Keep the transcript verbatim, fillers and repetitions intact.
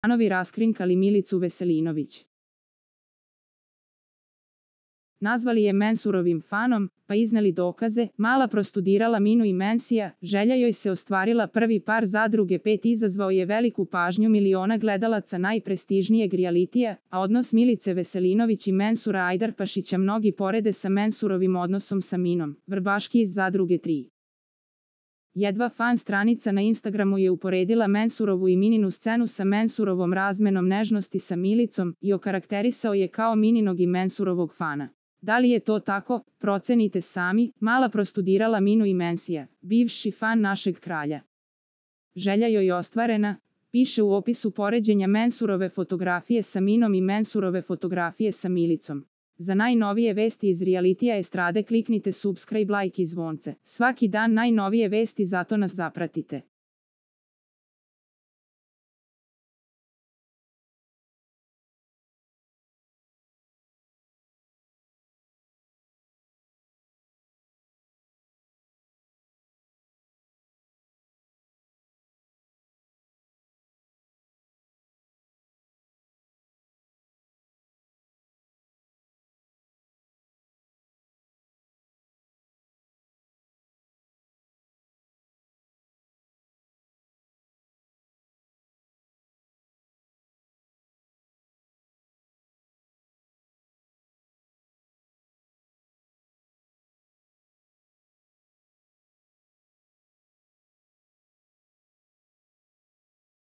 fanovi raskrinkali Milicu Veselinović. Nazvali je Mensurovim fanom, pa izneli dokaze, mala prostudirala Minu i Mensija, želja joj se ostvarila, prvi par Zadruge pet izazvao je veliku pažnju miliona gledalaca najprestižnijeg rijalitija, a odnos Milice Veselinović i Mensura Ajdarpašića mnogi porede sa Mensurovim odnosom sa Minom, Vrbaški iz Zadruge tri. Jedva fan stranica na Instagramu je uporedila Mensurovu i Mininu scenu sa Mensurovom razmenom nežnosti sa Milicom i okarakterisao je kao Mininog i Mensurovog fana. Da li je to tako? Procenite sami. Mala prostudirala Minu i Mensija, bivši fan našeg kralja. Želja joj ostvarena, piše u opisu poređenja Mensurove fotografije sa Minom i Mensurove fotografije sa Milicom. Za najnovije vesti iz realitija estrade kliknite subscribe, like i zvonce. Svaki dan najnovije vesti, zato nas zapratite.